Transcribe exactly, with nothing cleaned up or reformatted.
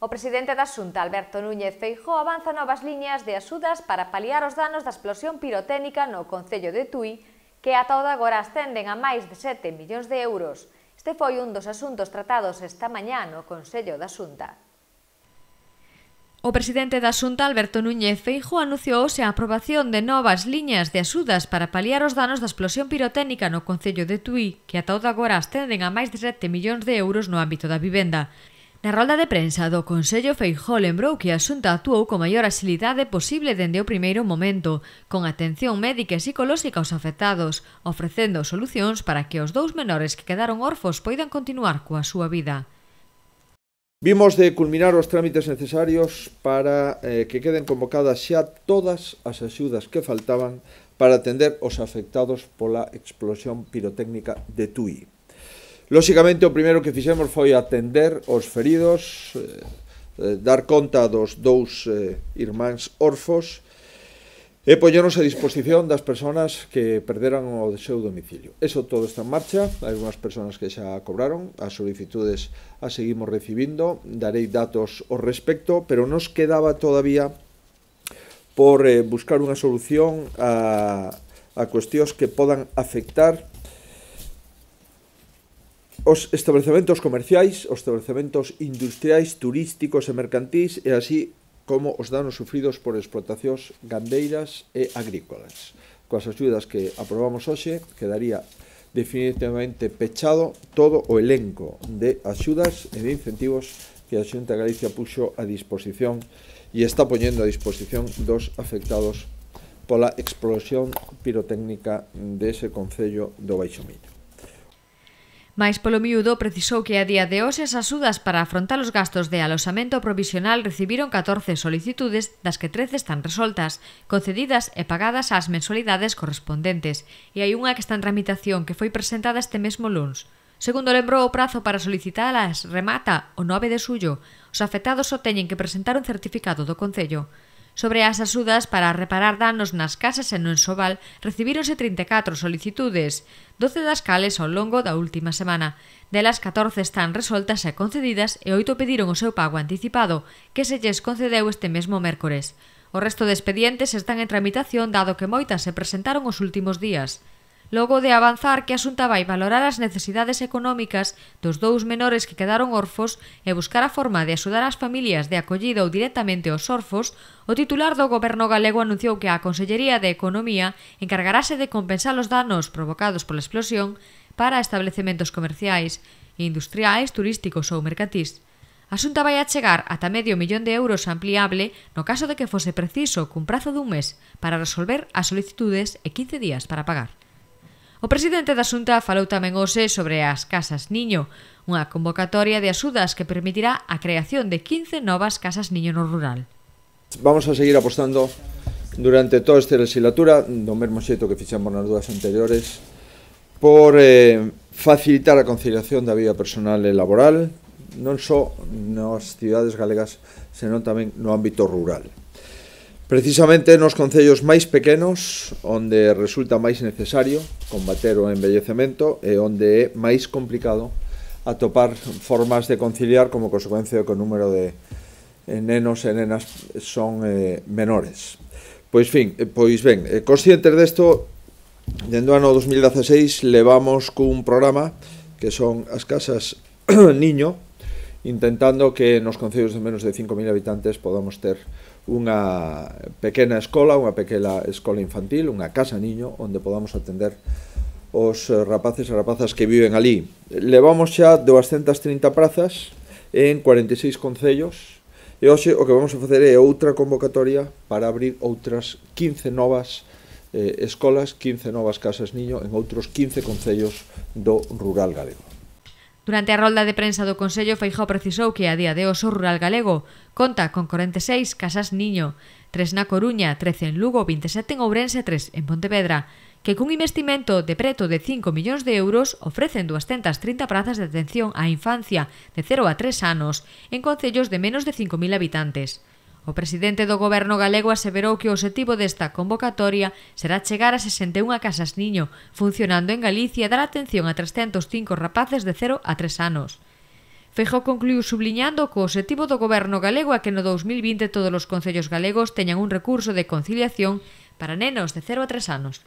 O presidente da Xunta, Alberto Núñez Feijóo, avanza novas liñas de axudas para paliar os danos da explosión pirotécnica no concello de Tui, que ata o de agora ascenden a máis de sete millóns de euros. Este foi un dos asuntos tratados esta mañá no Consello da Xunta. O presidente da Xunta, Alberto Núñez Feijóo, anunciou hoxe a aprobación de novas liñas de axudas para paliar os danos da explosión pirotécnica no concello de Tui, que ata o de agora ascenden a máis de sete millóns de euros no ámbito da vivenda. Na rolda de prensa do Consello, Feijóo lembrou que a Xunta actuou con maior axilidade posible dende o primeiro momento, con atención médica e psicolóxica aos afectados, ofrecendo solucións para que os dous menores que quedaron orfos poidan continuar coa súa vida. Vimos de culminar os trámites necesarios para eh, que queden convocadas xa todas as axudas que faltaban para atender os afectados pola explosión pirotécnica de Tui. Lóxicamente, o primeiro que fixemos foi atender os feridos, eh, eh, dar conta dos dous eh, irmáns orfos e poñernos a disposición das persoas que perderan o seu domicilio. Eso todo está en marcha, hai unhas persoas que xa cobraron, as solicitudes as seguimos recibindo, darei datos ao respecto, pero nos quedaba todavía por eh, buscar unha solución a, a cuestións que podan afectar os establecementos comerciais, os establecementos industriais, turísticos e mercantís, e así como os danos sufridos por explotacións gandeiras e agrícolas. Coas axudas que aprobamos hoxe, quedaría definitivamente pechado todo o elenco de axudas e de incentivos que a Xunta de Galicia puxo a disposición e está poñendo a disposición dos afectados pola explosión pirotécnica dese concello do Baixo Miño. Mais polo miúdo, precisou que a día de hoxe as axudas para afrontar os gastos de aloxamento provisional recibiron catorce solicitudes, das que trece están resoltas, concedidas e pagadas ás mensualidades correspondentes, e hai unha que está en tramitación que foi presentada este mesmo luns. Segundo lembrou, o prazo para solicitalas remata o nove de xullo. Os afectados só teñen que presentar un certificado do Concello. Sobre as axudas para reparar danos nas casas e no enxoval, recibíronse trinta e catro solicitudes, doce das cales ao longo da última semana. Delas, catorce están resoltas e concedidas e oito pediron o seu pago anticipado, que se lles concedeu este mesmo mércores. O resto de expedientes están en tramitación dado que moitas se presentaron os últimos días. Logo de avanzar que a Xunta vai valorar as necesidades económicas dos dous menores que quedaron orfos e buscar a forma de axudar as familias de acollida ou directamente aos orfos, o titular do Goberno galego anunciou que a Consellería de Economía encargarase de compensar os danos provocados pola explosión para establecementos comerciais, industriais, turísticos ou mercantís. A Xunta vai achegar ata medio millón de euros ampliable no caso de que fose preciso cun prazo dun mes para resolver as solicitudes e quince días para pagar. O presidente da Xunta falou tamén hoxe sobre as Casas Niño, unha convocatoria de axudas que permitirá a creación de quince novas casas niño no rural. Vamos a seguir apostando durante toda esta legislatura, do mesmo xeito que fixemos nas dúas anteriores, por eh, facilitar a conciliación da vida personal e laboral, non só nas cidades galegas, senón tamén no ámbito rural. Precisamente nos concellos máis pequenos, onde resulta máis necesario combater o envellecemento e onde é máis complicado atopar formas de conciliar como consecuencia que o número de nenos e nenas son eh, menores. Pois, fin, pois ben, conscientes desto, dende o ano dos mil dezaseis levamos cun programa que son as casas niño, intentando que nos concellos de menos de cinco mil habitantes podamos ter unha pequena escola, unha pequena escola infantil, unha casa niño, onde podamos atender os rapaces e rapazas que viven ali. Levamos xa doscientas trinta prazas en cuarenta e seis concellos e hoxe o que vamos a facer é outra convocatoria para abrir outras quince novas eh, escolas, quince novas casas niño en outros quince concellos do rural galego. Durante a rolda de prensa do Consello, Feijóo precisou que a día de hoxe o rural galego conta con corenta e seis casas niño, tres na Coruña, trece en Lugo, vinte e sete en Ourense e tres en Pontevedra, que cun investimento de preto de cinco millóns de euros ofrecen doscientas trinta prazas de atención á infancia de cero a tres anos en concellos de menos de cinco mil habitantes. O presidente do Goberno galego aseverou que o obxectivo desta convocatoria será chegar a sesenta e unha casas niño, funcionando en Galicia e dar atención a trescentos cinco rapaces de cero a tres anos. Feijóo concluiu subliñando que o obxectivo do goberno galego é que no dous mil vinte todos os concellos galegos teñan un recurso de conciliación para nenos de cero a tres anos.